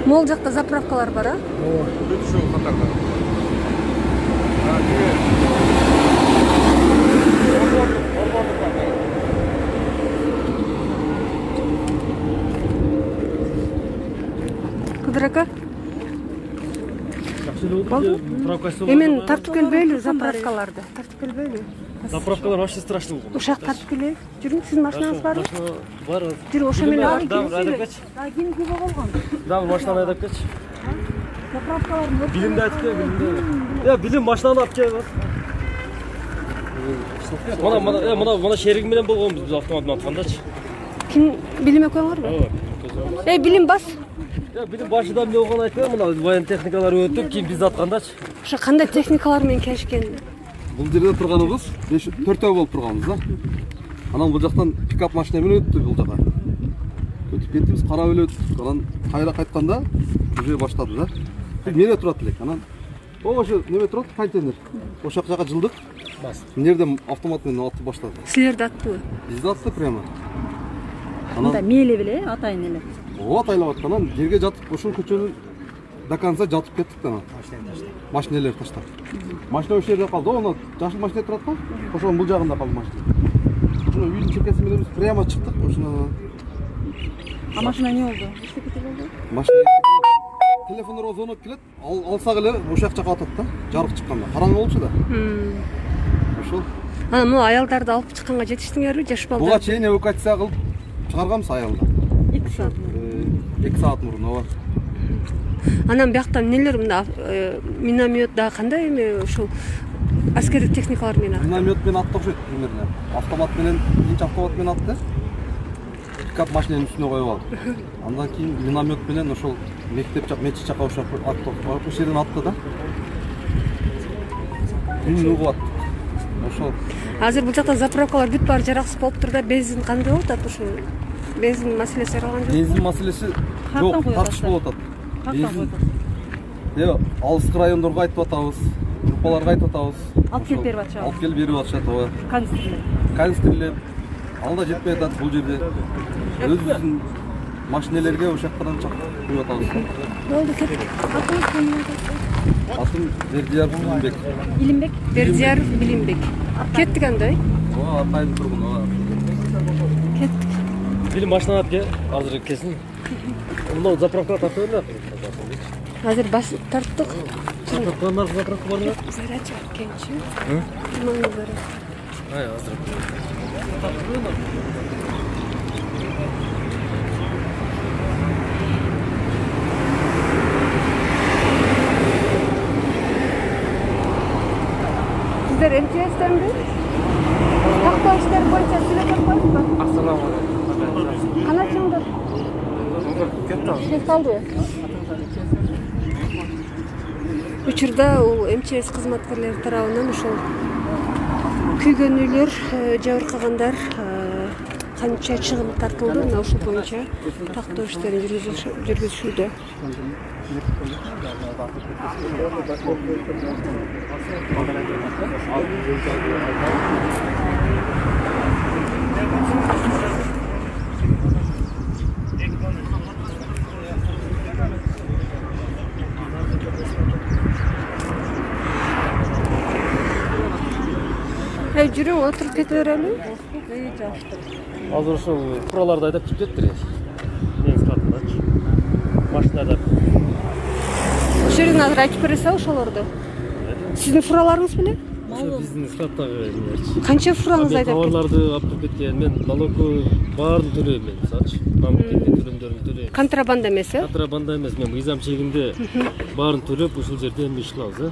Могул жакта заправкалар бар, а? Ооба, бүт ушул катарда. Кыдыр ака? Заправкасы. Эмен тартып келбейлби заправкаларды? Тартып келбейлби? Заправкалар вообще страшный болгон. Ушак тартып келейик. Жүрүң, сиздин машинаңыз барбы? Бар. Жүрүң, ошо менен алып айдап кетчи. Ким күбө болгон? Дагы машинаны айдап кетчи. Заправкаларды Билимди айтып кел, билимди. Билим машинаны алып кел. Мына шеригим менен болгонбуз биз автомат менен аткандачы. Ким билим экөөңөрбү? Билим бас. Билим башында эмне болгонун айтпайм, мына воен техникалар өтүп, кийин биз аткандачы. Ошо кандай техникалар менен келишкен? Бул жерде турганыбыз 4 болуп турганбыз да. Анан бул жактан пикап машина менен өттү бул жака. Өтүп кеттибиз, карап эле өттүк. Анан кайра кайтканда уже баштады да. Менде турат элек. Анан ошо неме турат, контейнер. Ошол жака жылдык. Мына жерде автомат менен атып баштады. Силерди аттыбы? Бизди атты прямо. Анда мейли беле, атайын эле. Ооба, атайлап атты. Анан жерге жатып, ушул көчөнүн до конца жатып кеттик да. Машиналар таштап. Машина ошол жерде калды. Аны жашыл машина турат го. Ошонун бул жагында калды машина. Ошону үйдүн чекеси менен биз прямо чыктык. Ошону. А машина не болду? Эчтеке болду? Машина телефондор звонок келет. Алсак эле ошол жака атат да. Жарык чыкканда. Караңгы болчу да. Ошол. Анан могу аялдарды алып чыкканга жетиштиңерби, жаш балдар? Буга чейин эвакуация кылып чыгарганбыз аялды. 2 саат. 2 саат мурун, ооба. Анан бияктан эмнелер мында миномет да кандай эме ушул аскердик техникалар менен атты? Миномет менен атты окшойт примерно. Автомат менен, биринчи автомат менен атты. Пикап машинанын үстүнө коюп алып. Андан кийин миномет менен ошол мектеп жак, мечит жака ошол атты. Ошол жерден атты да. Күн угуп атты. Ошол. Азыр бул жакта заправкалар бүт баары жараксыз болуптур да, бензин кандай болуп атат ушу? Бензин маселеси каралган жок. Бензин маселеси жок, тартыш болуп атат. Бензин. Алыскы райондорго айтып атабыз. группаларга айтып атабыз. Алып келип берип атышабыз. Алып келип берип атышат, ооба. Канистрлер. Ал да жетпей атат бул жерде. Өзүбүздүн машинелерге ошол жактан чакырып куюп атабыз. Болду, кеттик. Атыңыз ким атат? Атым Бердияров Билимбек. Илимбек? Бердияров Билимбек. Кеттик анда. Ооба, Аркайдын тургуну, ооба. Кеттик. Билим машина алып кел, азыр келсин. Мына заправкага тартып эле. Азыр бас тарттык. Заправкалар заправка бармы? Заряд кенчи. Мына заряд. Ай, азыр. Сиздер МЧС'тенби? Тактоо иштери боюнча сүйлөп коюңузбу? Ассаламу алейкум. Кана чыңдыр? Кет калды. Учурда ул МЧС кызматкерлери тарабынан ошол күйгөн үйлөр, жабыркагандар канча чыгым тартылды, мына ушул боюнча тактоо иштерин жүргүзүшүүдө. Жүрүң, отуруп кете берели. Азыр ошол фураларды айдап чыгып кеттир. Мен скатындачы. Машина айдап. Ошол жерден азыр айтып бересиз ошолорду. Сиздин фураларыңыз беле? Ошо биздин скаттагы эмелерчи. Канча фураңыз айдап кетти? Товарларды алып кирип кеткен. Мен налогу баарын төлөйм мен, мисалчы. Мамлекеттик төлөмдөрүн төлөйм. Контрабанда эмес, э? Контрабанда эмес, мен мыйзам чегинде баарын төлөп ушул жерде эми иш кылабыз, э?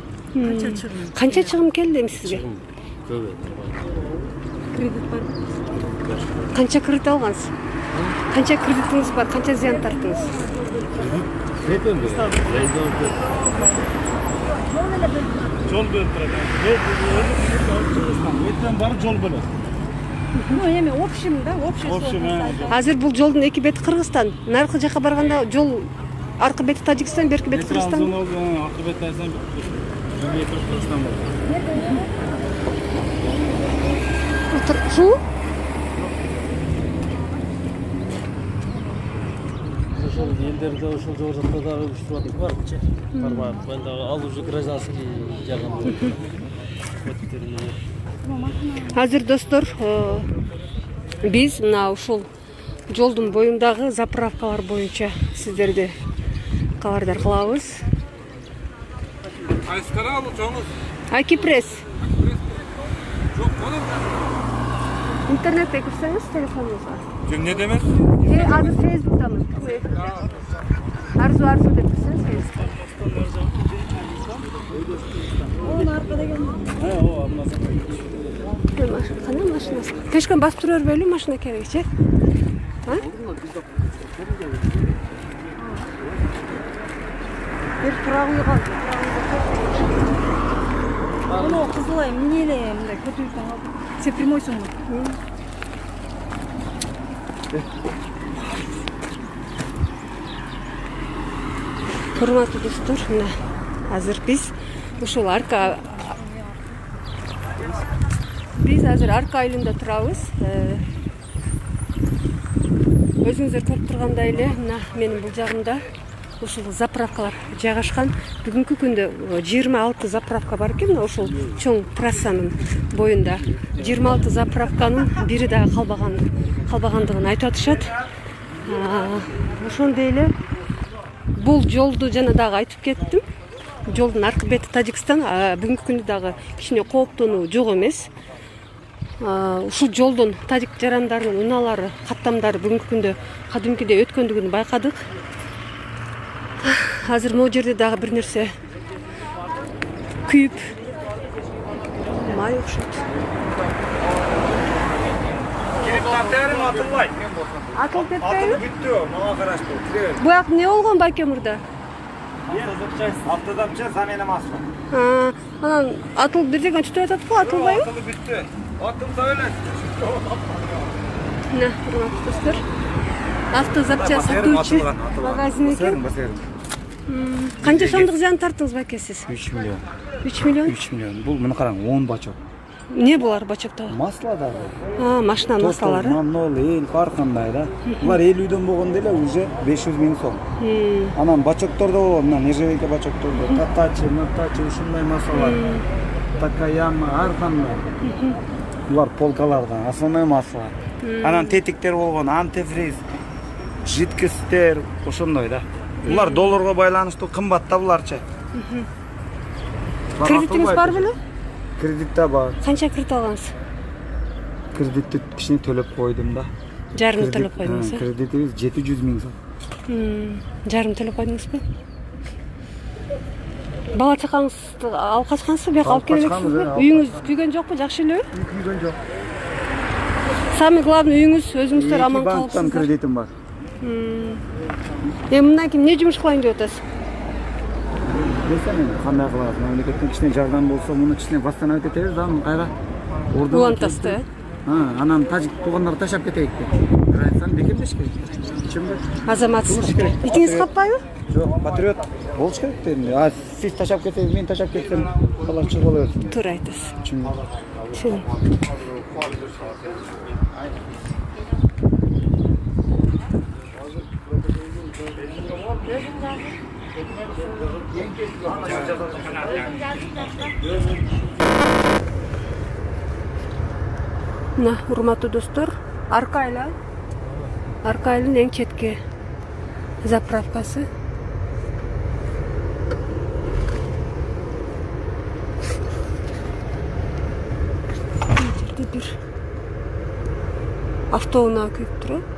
Канча чыгым келди эми сизге? Көп. Кредит бар. Канча кредит алгансыз? Канча кредитиңиз бар? Канча зыян тарттыңыз? Көп эмне? Жол бөлүп турат. Өтөн барып жол бөлөт. Ну, эми общем, да, общий. Азыр бул жолдун эки бети Кыргызстан. Наркы жака барганда жол аркы бети Тажикстан, берки бети Кыргызстан. Аркы бети Тажикстан, берки бети Кыргызстан болот. Шу? Ошол элдерде ошол жогору жакта дагы уюштуруп барчы. Барбайт. Мен дагы ал уже гражданский жагын. Азыр достор, биз мына ушул жолдун боюндагы заправкалар боюнча сиздерди кабардар кылабыз. Айскара алучаңыз. Акипресс. Жок, болот. Интернетте кирсеңиз телефонуңузга. Эмне демек? Азыр Facebook'тамыз. Арзу деп кирсеңиз Facebook'та. Onun arkada geldi. O Qanday mashinasi? Peshkon bosib turavermaylik, mashina kerak-chi. Ha? Bir turaq uy qoldi. Bunu qizilay, minelay, bunday ko'tarib oldi. Sen primoysunmi? Hurmatli do'stlar, mana hozir biz ушул арка азыр арка айылында турабыз. Өзүңүздөр көрүп тургандай эле мына менин бул жагымда ушул заправкалар жайгашкан. Бүгүнкү күндө 26 заправка бар экен, ушул чоң трассанын боюнда. 26 заправканын бири дагы калбагандыгын айтып атышат. Ошондой эле бул жолду жана дагы айтып кеттим. Жолдун аркы бети Тажикстан, бүгүнкү күндө дагы кичине кооптонуу жок эмес. Ушул жолдун тажик жарандарынын унаалары, каттамдары бүгүнкү күндө кадимкидей өткөндүгүн байкадык. Азыр могу жерде дагы бир нерсе күйүп май окшойт. Атылып кетпейби? Бүттү, мага караштуу. Буяк эмне болгон байке мурда? Автозапчасть, замена масла. Анан атылып бир жерден түтүп атат го, атылбайбы? Атылып бүттү. Атылса эле. Мына, урматтуу достор. Автозапчасть сатуучу магазин экен. Канча сомдук зыян тарттыңыз байке сиз? 3 миллион. 3 миллион? 3 миллион. Бул муну караң, 10 бачок. Не булар бачокто? Масло дагы. Машина маслалары. Манол, эл бар кандай да. Булар эл үйдөн болгондо эле уже 500 миң сом. Анан бачоктордо болгон, мына нержавейка бачоктордо, татачы, матачы ушундай маслалар. Такаяма, ар кандай. Булар полкалардан, основной масло. Анан тетиктер болгон, антифриз, жидкосттер, ошондой да. Булар долларга байланыштуу кымбат да буларчы. Кредитиңиз бар беле? Кредитте бар. Канча кредит алгансыз? Кредитти кичине төлөп койдум да. Жарым төлөп койдуңуз, э? Кредитибиз 700 миң сом. Жарым төлөп койдуңузбу? Бала чакаңызды алып качкансызбы, бияка алып келбексизби? Үйүңүз күйгөн жокпу, жакшы элеби? Күйгөн жок. Самый главный үйүңүз өзүңүздөр аман калыпсыздар. Банктан кредитим бар. Мындан кийин эмне жумуш кылайын деп атасыз? Десем мен кандай кылабыз? Мамлекеттен кичине жардам болсо, муну кичине восстановить этебиз да, кайра ордун. Улантасыз да? Анан тажик туугандарды таштап кетейик деп. Границаны бекемдеш керек. Чынбы? Азаматсыз. Итиңиз каппайбы? Жок, патриот болуш керек дедим. Сиз таштап кетсеңиз, мен таштап кетсем, калап чыгып кала берсин. Туура айтасыз. Чын. Чын. Мына, урматтуу достор, Аркайла. Аркайлын эң четки заправкасы. Жерде бир автоунаа күйүп турат.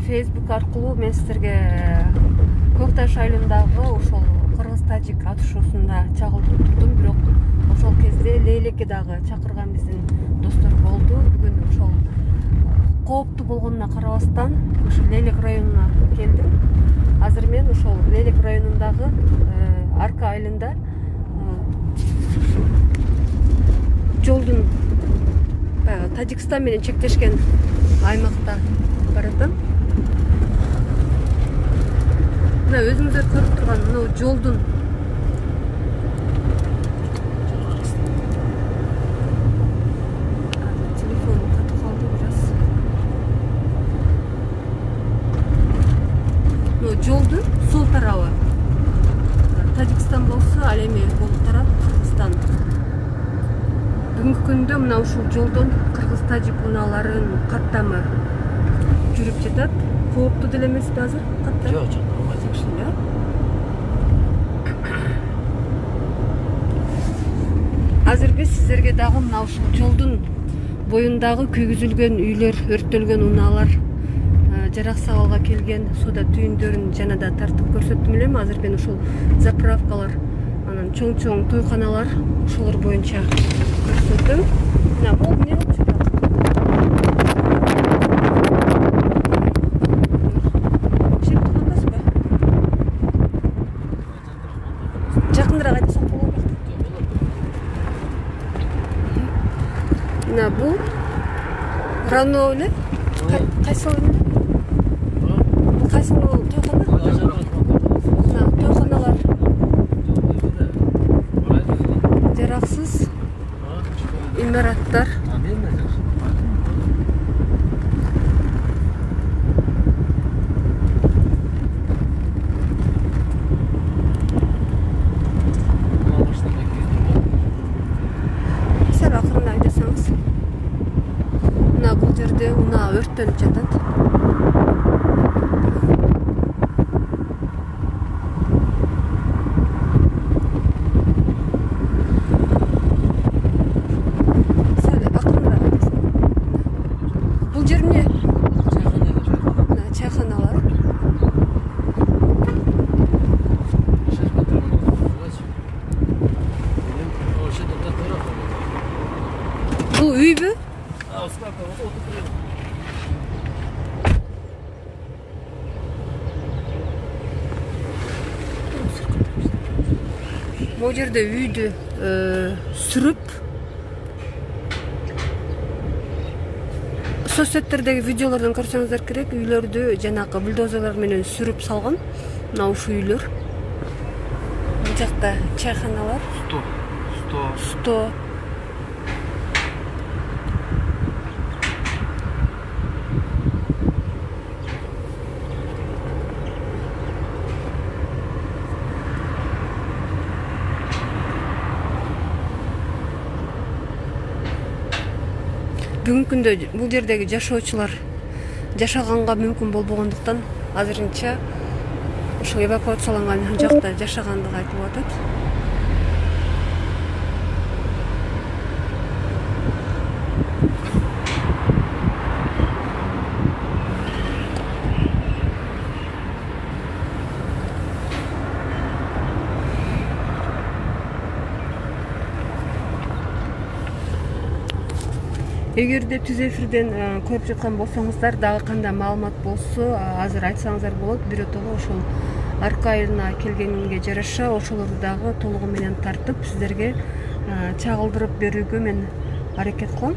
Facebook аркылуу мен сиздерге Көкташ айылындагы ошол кыргыз-тажик атышуусунда чагылдырып турдум, бирок ошол кезде Лейлеке дагы чакырган биздин достор болду. Бүгүн ошол кооптуу болгонуна карабастан ошо Лейлек районуна келдим. Азыр мен ошол Лейлек айылында жолдун баягы Тажикстан менен чектешкен аймакта баратам. Мына өзүңүздөр көрүп турган мына жолдун телефонум катып калды бир аз. Мына жолдун сол тарабы Тажикстан болсо, ал эми бул тарап Кыргызстан. Бүгүнкү күндө мына ушул жолдон кыргыз-тажик унааларын каттамы жүрүп жатат. Кооптуу деле эмеспи азыр каттам? Жок, жок. Азыр биз сиздерге дагы мына ушул жолдун боюндагы күйгүзүлгөн үйлөр, өрттөлгөн унаалар, жараксыз абалга келген соода түйүндөрүн жана да тартып көрсөттүм элем. Азыр мен ушул заправкалар, анан чоң-чоң тойканалар ошолор боюнча көрсөттүм. Мына бул эмне болуп жатат? Шеп тургандасызбы? Жакыныраак айтсак болобу? Мына бул Рано эле? Кайсы эле? Кайсы тойкана? Мына тойканалар. Жараксыз имараттар. Сәл акырын айдасаңыз. Мына бул жерде унаа өрттөнүп жатат. Бул үйбү? Бул жерде үйдү сүрүп соцсеттердеги видеолордон көрсөңүздөр керек, үйлөрдү жанагы бульдозерлер менен сүрүп салган. Мына ушул үйлөр. Бул жакта чайханалар. Сто. Бүгүнкү күндө бул жердеги жашоочулар жашаганга мүмкүн болбогондуктан азырынча ошол эвакуацияланган жакта жашагандыгы айтылып атат. Эгерде түз эфирден көрүп жаткан болсоңуздар, дагы кандай маалымат болсо, азыр айтсаңыздар болот. Биротого ошол арка айылына келгенге жараша ошолорду дагы толугу менен тартып сиздерге чагылдырып берүүгө мен аракет кылам.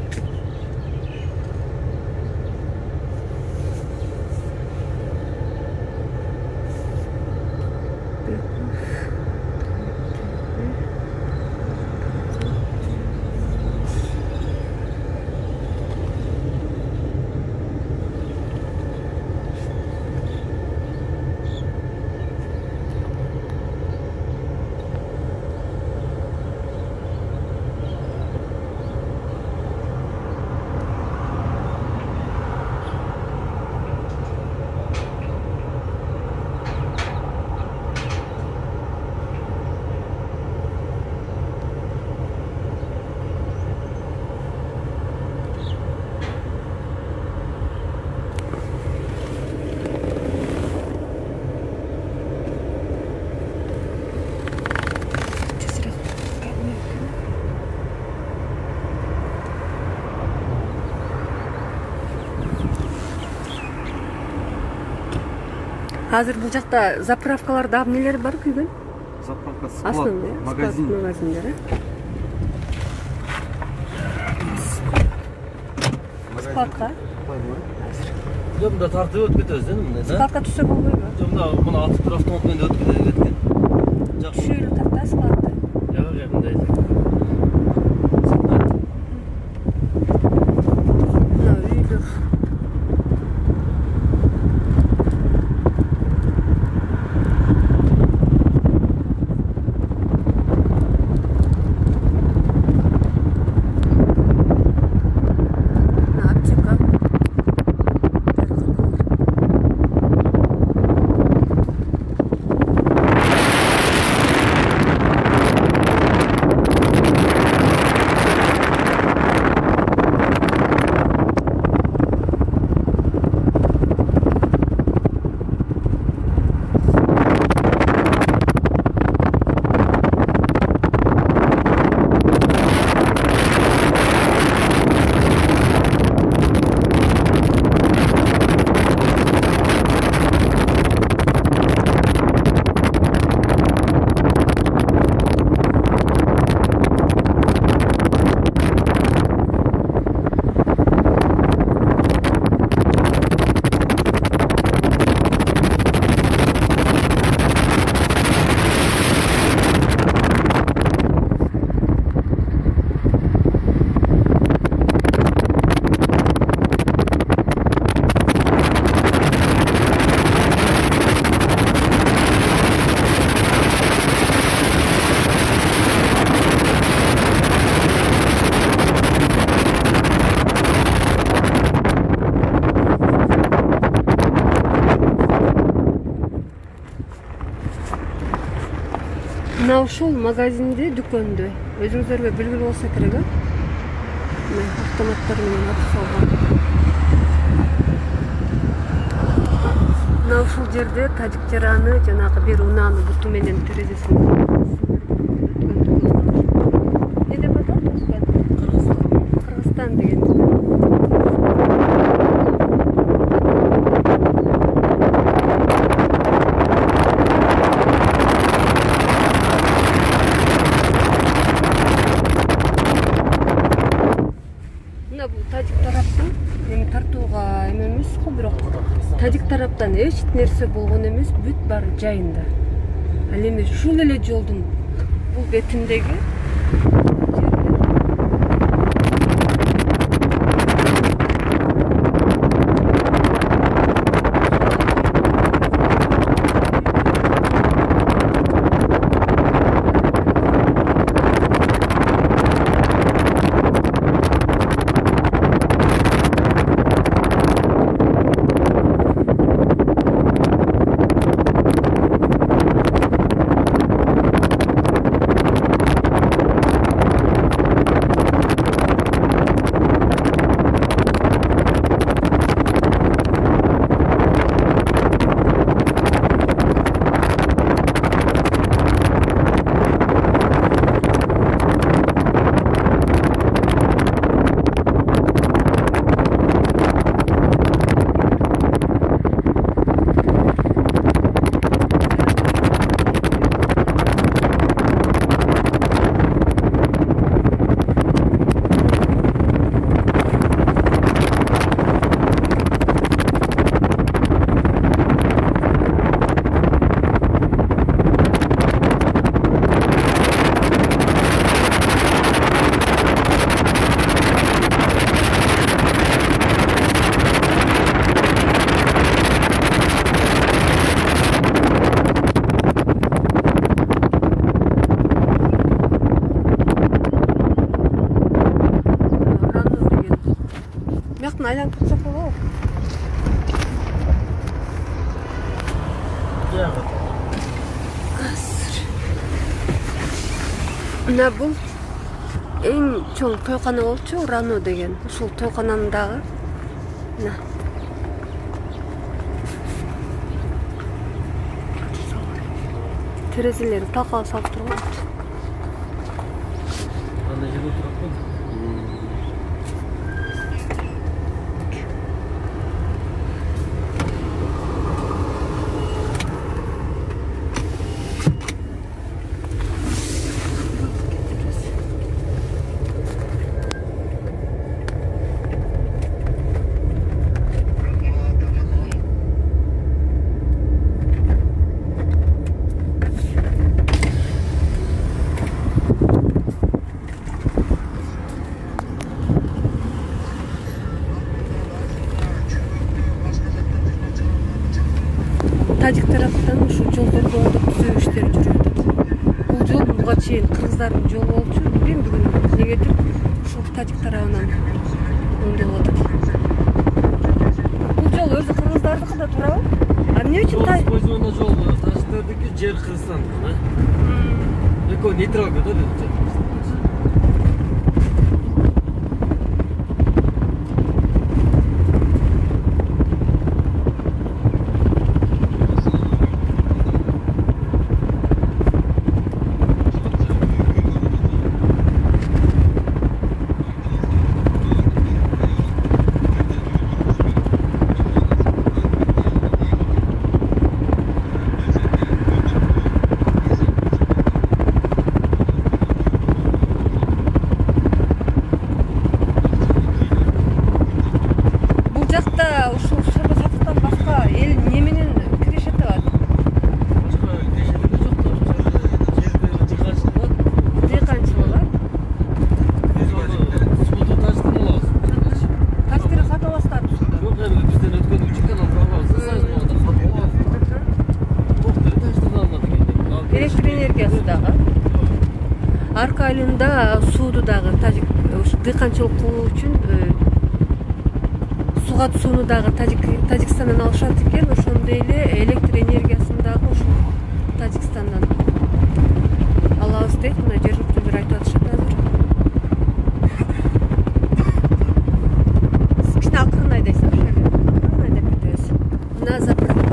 Азыр бул жакта заправкаларда эмнелер бар күйгөн? заправка Основной магазиндер. Складка. Жок, мында тартып өтүп кетебиз мындай да. Складка түшсө болбойбу? Жок, мына атып туруп автомат менен өтүп кеткен. Жакшы. Түшүрүп тарта складты. Жок, мындай. Мына ушул магазинде, дүкөндө өзүңүзөргө белгилүү болсо керек, автоматтар менен атып салган. Мына ушул жерде тажик жараны жанагы бир унааны буту менен терезесин эмне деп атат? Кыргызстан деген. Тажик тараптан эч нерсе болгон эмес, бүт баары жайында. Ал эми ушул эле жолдун бул бетиндеги айланып кетсек болобу? Мына бул эң чоң тойкана болчу, Рано деген. Ушул тойкананын дагы мына терезелери талкалап салып турган. Андай жерде турат го. тажик тараптан ушу жолдорду оңдоп түзөө иштери жүрүп атат. Бул жол буга чейин кыргыздардын жолу болчу. Билбейм бүгүн негедир ушул тажик тарабынан оңдолуп атат. Бул жол өзү кыргыздардыкы да туурабы? А эмне үчүн использование жол тажиктердики, жер Кыргызстандыкы, да? Экөө нейтралга да деп. Арка айылында сууду дагы дыйканчылык кылуу үчүн суга сууну дагы Тажикстандан алышат экен. Ошондой эле электр энергиясын дагы ушул Тажикстандан алабыз дейт. Мына жергиликтүүлөр айтып атышат азыр. Кичине акырын айдайсың, акырын айдап кетебиз. Мына заправка.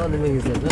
Немеңиздер да.